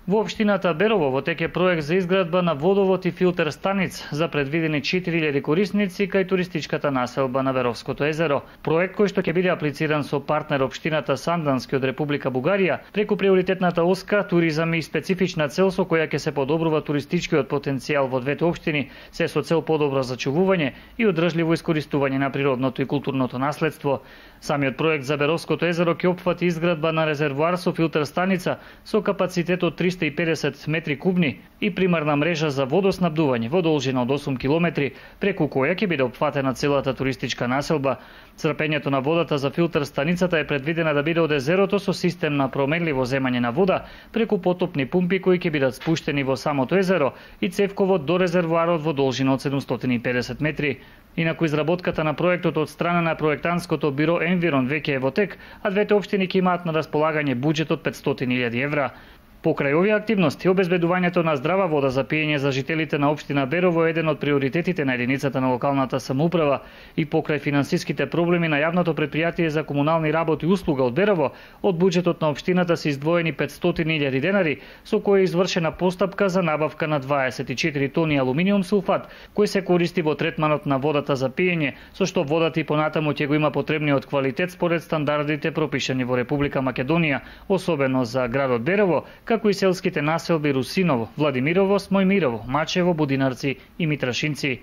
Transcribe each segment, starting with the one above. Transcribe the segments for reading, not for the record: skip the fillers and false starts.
Во општината Берово во тек е проект за изградба на водовод и филтер станиц за предвидени 4000 корисници кај туристичката населба на Веровското езеро. Проект кој што ќе биде аплициран со партнер општината Сандански од Република Бугарија преку приоритетната оска туризам и специфична цел со која ќе се подобрува туристичкиот потенцијал во двете општини, се со цел подобро зачувување и одржливо искористување на природното и културното наследство. Самиот проект за Веровското езеро ќе опфати изградба на резервоар со филтер станица со капацитет од 350 метри кубни и примарна мрежа за водоснабдување во должина од 8 километри, преку која ќе биде опфатена целата туристичка населба. Црпењето на водата за филтер станицата е предвидена да биде од езерото со систем на променливо земање на вода преку потопни пумпи кои ќе бидат спуштени во самото езеро и цевковод до резервоарот во должина од 750 метри. Инаку изработката на проектот од страна на проектантското биро Environ веќе е во тек, а двете општини ќе имаат на располагање буџет од 500.000 евра. Покрај овие активности, обезбедувањето на здрава вода за пиење за жителите на општина Берово е еден од приоритетите на единицата на локалната самоуправа и покрај финансиските проблеми на јавното предпријатие за комунални работи и услуга од Берово, од буџетот на општината се издвоени 500.000 денари, со кои е извршена постапка за набавка на 24 тони алуминиум сулфат, кој се користи во третманот на водата за пиење, со што водата и понатаму ќе го има потребниот квалитет според стандардите пропишани во Република Македонија, особено за градот Берово, како и селските населби Русиново, Владимирово, Смојмирово, Мачево, Будинарци и Митрашинци.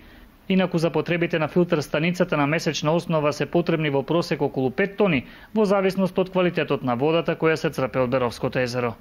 Инаку за потребите на филтер станицата на месечна основа се потребни во просек околу 5 тони, во зависност од квалитетот на водата која се црпе од Беровското езеро.